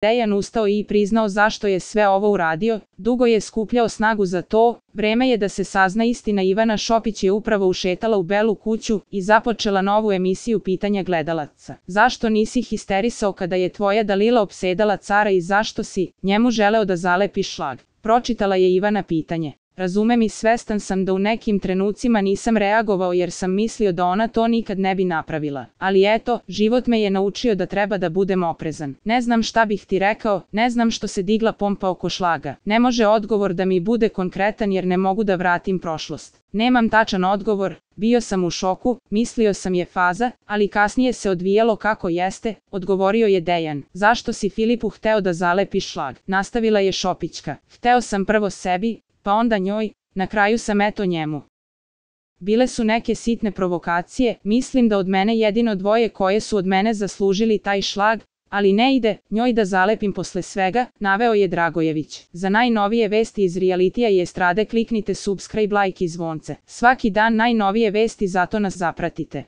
Dejan ustao i priznao zašto je sve ovo uradio, dugo je skupljao snagu za to, vreme je da se sazna istina. Ivana Šopić je upravo ušetala u Belu kuću i započela novu emisiju pitanja gledalaca. Zašto nisi histerisao kada je tvoja Dalila opsedala cara i zašto si njemu želeo da zalepiš šlag? Pročitala je Ivana pitanje. Razumem i svestan sam da u nekim trenucima nisam reagovao jer sam mislio da ona to nikad ne bi napravila. Ali eto, život me je naučio da treba da budem oprezan. Ne znam šta bih ti rekao, ne znam što se digla pompa oko šlaga. Ne može odgovor da mi bude konkretan jer ne mogu da vratim prošlost. Nemam tačan odgovor, bio sam u šoku, mislio sam je faza, ali kasnije se odvijalo kako jeste, odgovorio je Dejan. Zašto si Filipu hteo da zalepiš šlag? Nastavila je Šopićka. Hteo sam prvo sebi, pa onda njoj, na kraju sam eto njemu. Bile su neke sitne provokacije, mislim da od mene jedino dvoje koje su od mene zaslužili taj šlag, ali ne ide njoj da zalepim posle svega, naveo je Dragojević. Za najnovije vesti iz realitija i estrade kliknite subscribe, like i zvonce. Svaki dan najnovije vesti, zato nas zapratite.